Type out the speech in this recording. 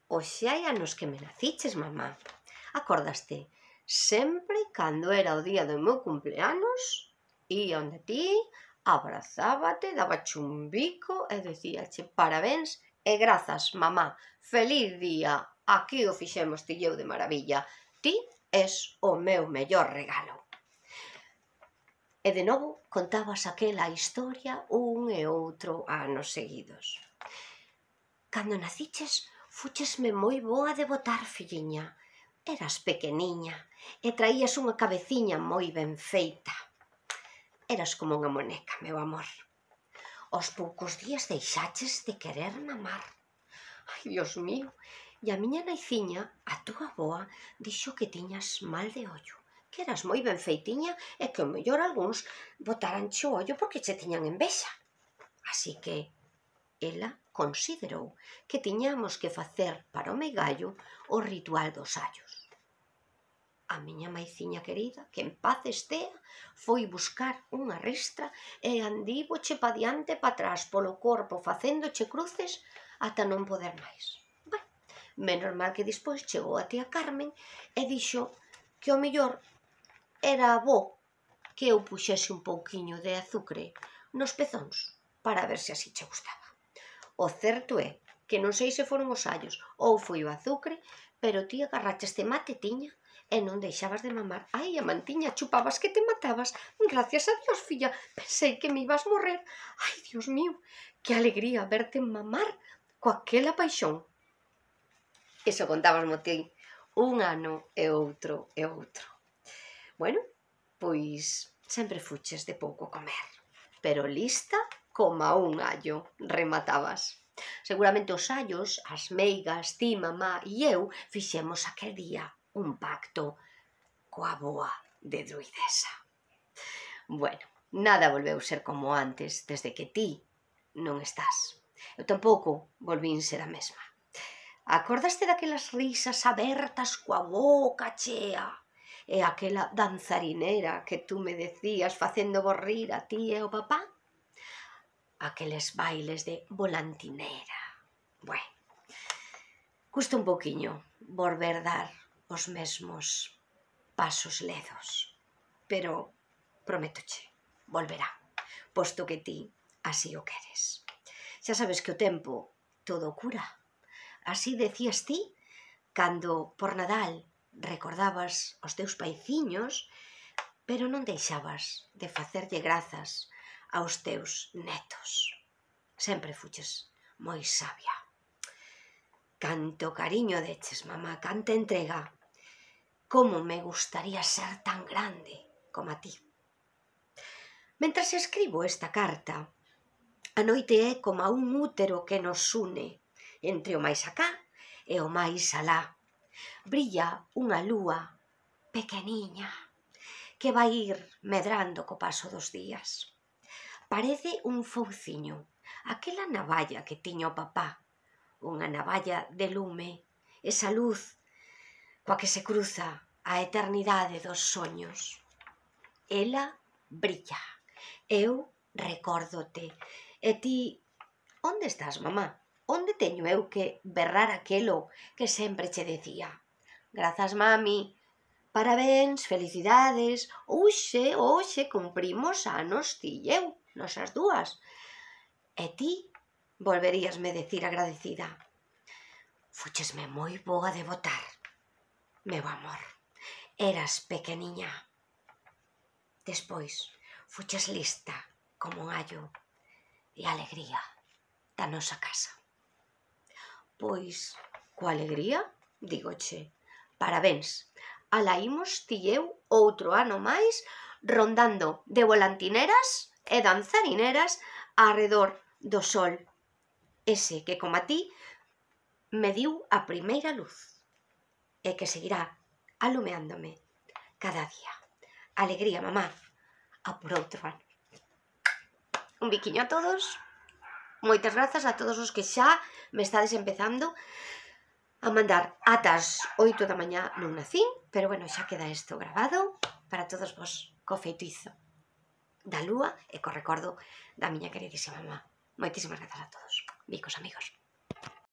Hoxe hai anos que me naciches, mamá. Acordaste? Sempre cando era o día do meu cumpleanos, ía onde ti, abrazábate, dabache un bico e dicíache parabéns e grazas, mamá, feliz día, aquí o fixemos ti e eu de maravilla, ti es o meu mellor regalo. E de novo contabas aquela historia un e outro anos seguidos. Cando naciches, fúchesme moi boa de botar, filliña. Eras pequeniña e traías unha cabeciña moi ben feita. Eras como unha moneca, meu amor. Aos poucos días deixaches de querer mamar. Ai, Dios mío, e a miña naiciña, a túa avoa, dixo que tiñas mal de ollo, que eras moi ben feitiña e que o mellor algúns botaranche o ollo porque che tiñan envexa. Así que ela considerou que tiñamos que facer para o meigallo o ritual dos allos. A miña maiciña querida, que en paz estea, foi buscar unha ristra e andívoche pa diante e pa atrás polo corpo facéndoche cruces ata non poder máis. Ben, menos mal que despois chegou a tía Carmen e dixo que o mellor era bo que eu puxese un pouquiño de azucre nos pezóns para ver se así che gustaba. O certo é que non sei se foron os allos ou foi o azucre, pero ti agarraches de mate tiña e non deixabas de mamar. Ai, a mantiña, chupabas que te matabas. Gracias a Dios, filla, pensei que me ibas morrer. Ai, Dios mío, que alegría verte mamar coa aquela paixón. Iso contábasmo ti un ano e outro e outro. Bueno, pois sempre fuches de pouco comer, pero lista coma un allo, rematabas. Seguramente os allos, as meigas, ti, mamá e eu fixemos aquel día un pacto coa boa de druidesa. Bueno, nada volveu ser como antes desde que ti non estás. Eu tampouco volvín ser a mesma. Acordaste daquelas risas abertas coa boca chea e aquela danzarinera que tú me decías facendo rir a ti e ao papá? Aqueles bailes de volantinera. Bueno, custa un pouquiño volver dar os mesmos pasos ledos, pero prométoche, volverá, posto que ti así o queres. Xa sabes que o tempo todo cura. Así decías ti cando por Nadal recordabas os teus paiciños, pero non deixabas de facerlle grazas aos teus netos. Sempre fuches moi sabia. Canto cariño deches, mamá, canta entrega. Como me gustaría ser tan grande como a ti. Mentres escribo esta carta, a noite é como un útero que nos une entre o máis acá e o máis alá. Brilla unha lúa pequeniña que vai ir medrando co paso dos días. Parece un fouciño, aquela navalla que tiña o papá, unha navalla de lume, esa luz coa que se cruza a eternidade dos soños. Ela brilla, eu recórdote, e ti, onde estás, mamá? Onde teño eu que berrar aquelo que sempre che decía? Grazas, mami, parabéns, felicidades, hoxe cumprimos anos ti e eu, nosas dúas. E ti volveríasme decir agradecida. Fúchesme moi boa de botar, meu amor, eras pequeniña. Despois, fuches lista como un allo e alegría da nosa casa. Pois, coa alegría, dígoche, parabéns, alá imos ti e eu outro ano máis rondando de volantineras e danzarineras arredor do sol, ese que, como a ti, me diu a primeira luz e que seguirá alumeándome cada día. Alegría, mamá, a por outro ano. Un biquiño a todos. Moitas grazas a todos os que xa me estades empezando a mandar atas 8 da mañá non nacín, pero bueno, xa queda isto grabado para todos vos co feitizo da lúa e co recordo da miña queridísima mamá. Moitísimas grazas a todos. Bicos, amigos.